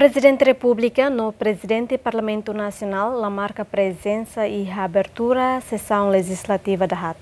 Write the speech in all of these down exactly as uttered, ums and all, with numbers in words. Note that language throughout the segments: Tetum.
Prezidente Repúblika no Prezidente Parlamentu Nasionál la marka prezensa iha abertura sesaun lejizlativa dahaat.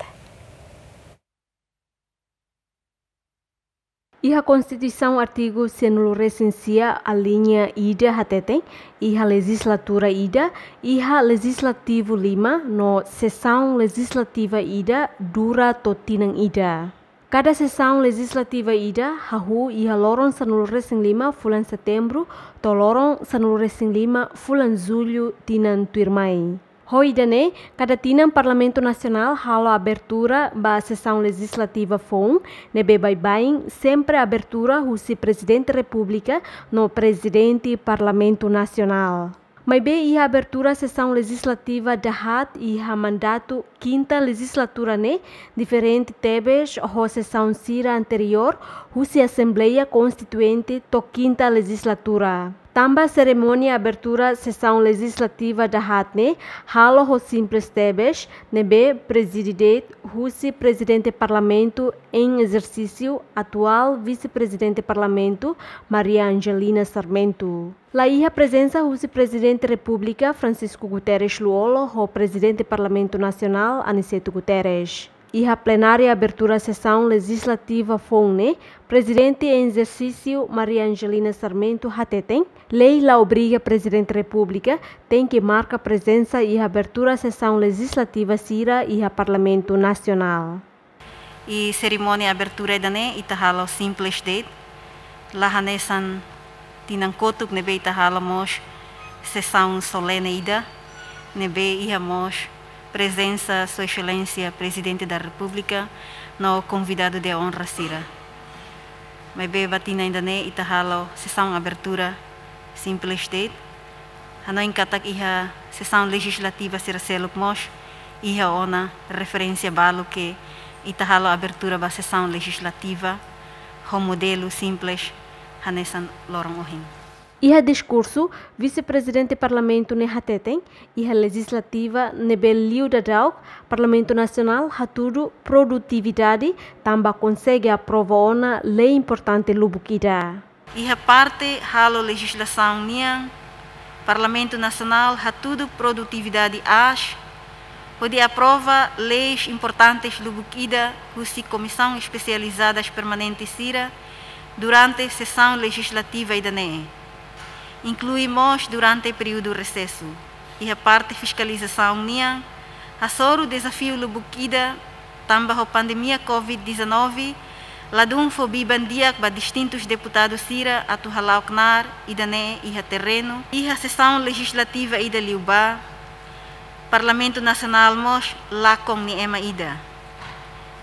Iha Konstituisaun artigu sanulu-resin-sia aliña ida hateten, iha lejizlatura ida, iha lejizlativu lima no sesaun lejizlativa ida dura to'o tinan ida. Kada sesaun lejizlativa ida hahú iha loron sanulu-resin-lima fulan Setembru to'o loron sanulu-resin-lima fulan Jullu tinan tuirmai. Ho ida-ne'e, kada tinan Parlamentu Nasionál halo abertura ba sesaun lejizlativa foun, ne'ebé baibain sempre abertura husi Prezidente Repúblika no Prezidente Parlamentu Nasionál. Maibé iha abertura sesaun lejizlativa dahaat iha mandatu kinta lejizlatura ne'e diferente tebes ho sesaun sira anteriór husi Asembleia Konstituinte to'o kinta lejizlatura. Tanba serimónia abertura sesaun lejizlativa dahaat ne'e halo ho simples tebes, ne'ebé prezide de'it husi Prezidente Parlamentu em ezersísiu, atuál Vise-Prezidente Parlamentu, Maria Angelina Sarmento. La iha prezensa husi Prezidente Repúblika, Francisco Guterres Lú-Olo, ho Prezidente Parlamentu Nasionál, Aniceto Guterres. Iha plenária abertura sesaun lejizlativa foun ne'e, Prezidente em ezersísiu Maria Angelina Sarmento hateten, lei la obriga Prezidente Repúblika tenke marka prezensa iha abertura sesaun lejizlativa sira iha Parlamentu Nasionál. I serimónia abertura ida-ne'e ita halo simples de'it, la hanesan tinan kotuk ne'ebé ita halo mós sesaun solene ida, ne'ebé iha mós prezensa Sua Exelénsia Prezidente da Repúblika no konvidadu de onra sira. Maibé ba tinan ida-ne'e ita halo sesaun abertura simples de'it. Hanoin katak iha sesaun lejizlativa sira seluk mós iha ona referénsia balu ke ita halo abertura ba sesaun lejizlativa ho modelu simples hanesan loron ohin. Iha diskursu, Vise-Prezidente Parlamentu ne'e hateten, iha lejizlativa ne'ebé liu daudauk, Parlamentu Nasionál hatudu produtividade tanba konsege aprova ona lei importante lubuk ida. Iha parte halo lejizlasaun nian, Parlamentu Nasionál hatudu produtividade aas, hodi aprova leis importantes lubuk ida husi komisaun espesializadas permanente sira durante sesaun lejizlativa ida-ne'e, inklui mós durante períodu resesu. Iha parte fiskalizasaun nian, hasoru dezafiu lubuk ida, tanba ho pandemia covid dezanove, ladún fó biban di'ak ba distintus deputadu sira atu hala'o knaar ida-ne'e iha terrenu. Iha sesaun lejizlativa ida liubá, Parlamentu Nasionál mós lakon nia ema ida,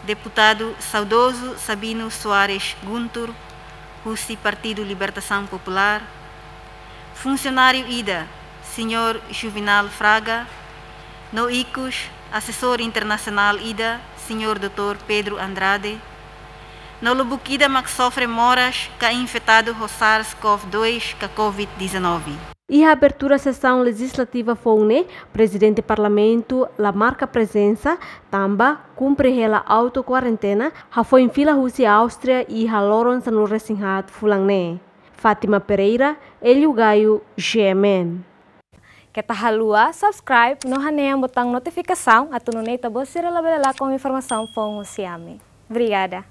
deputadu saudozu Sabino Soares Guntur, husi Partidu Libertasaun Populár, funsionáriu ida, señór Juvenal Fraga, no ikus, asesór internasionál ida, señór doutór Pedro Andrade, no lubuk ida mak sofre moras ka infetadu ho SARS-CoV dois ka covid dezanove. Iha abertura sesaun lejizlativa foun ne'e, Prezidente Parlamentu la marka prezensa, tanba kumpre hela autokuarentena, hafoin fila husi Áustria iha loron sanulu-resin-haat fulan ne'e. Fátima Pereira, Hélio Gaio, G M N. Keta haluha subscribe no hanehan butaun notifikasaun atu nune'e ita-boot sira labele lakon informasaun foun husi ami. Obrigada.